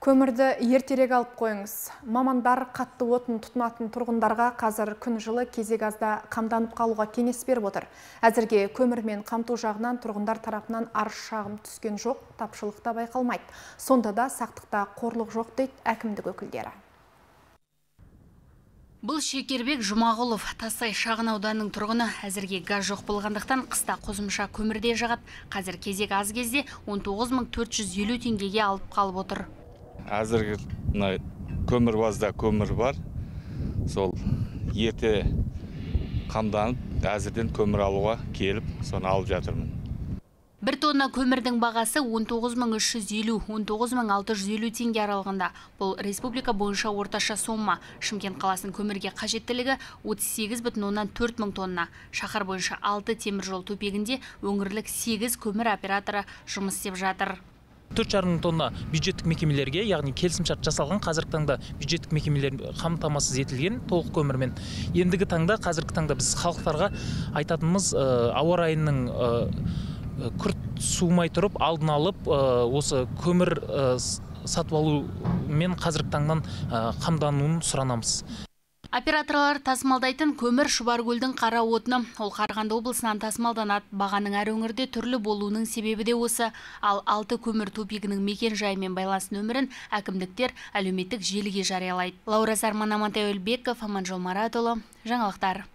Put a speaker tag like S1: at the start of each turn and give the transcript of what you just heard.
S1: Көмірді ертерек алып қойыңыз. Мамандар қатты отын тұтынатын тұрғындарға қазір күн жылы кезек азда қамданып қалуға кеңес беріп отыр. Әзірге көмірмен қамту жағынан тұрғындар тарапынан арыз шағым түскен жоқ, тапшылық та байқалмайды. Сонда да сақтықта қорлық жоқ дейді әкімдік өкілдері.
S2: Бұл Шекербек Жұмағұлов, Тасай шағын ауданының тұрғыны. Әзірге газ жоқ болғандықтан қыста қосымша көмірде жағады. Қазір кезек аз кезде 19.450 теңгеге алып қалып отыр.
S3: Әзірге көмір базда көмір бар. Сол ерте қамданып, әзірден көмір алуға келіп, соны алып жатырмын.
S2: 1 тонна көмірдің бағасы 19.350-19.650 теңге аралығында. Бұл республика бойынша орташа сомма. Шымкент қаласының көмірге қажеттілігі 38,4 мың тонна. Шаһар бойынша 6 темір жол төпегінде өңірлік 8 көмір операторы жұмыс істеп жатыр.
S4: 4,5 мың тонна бюджеттік мекемелерге, яғни келісімшарт жасалған, қазіргі таңда бюджеттік мекемелер қамтамасыз етілген толық көмірмен. Ендігі таңда, қазіргі таңда біз халықтарға айтатынымыз ауа райының күрт суымай тұрып, алдын алып, осы көмір сатып алумен қазіргі таңнан қамдануын сұранамыз.
S2: Операторлар тасымалдайтын көмір Шұбаркөлдің қара отыны. Ол Қарағанды облысынан тасымалданады. Бағаның әр өңірде түрлі болуының себебі де осы. Ал 6 көмір төпегінің мекен жайымен байланыс нөмірін әкімдіктер әлеуметтік желіге жариялайды. Лаура Зарман, Амантай Өлбеков, Аманжол Маратұлы, жаңалықтар.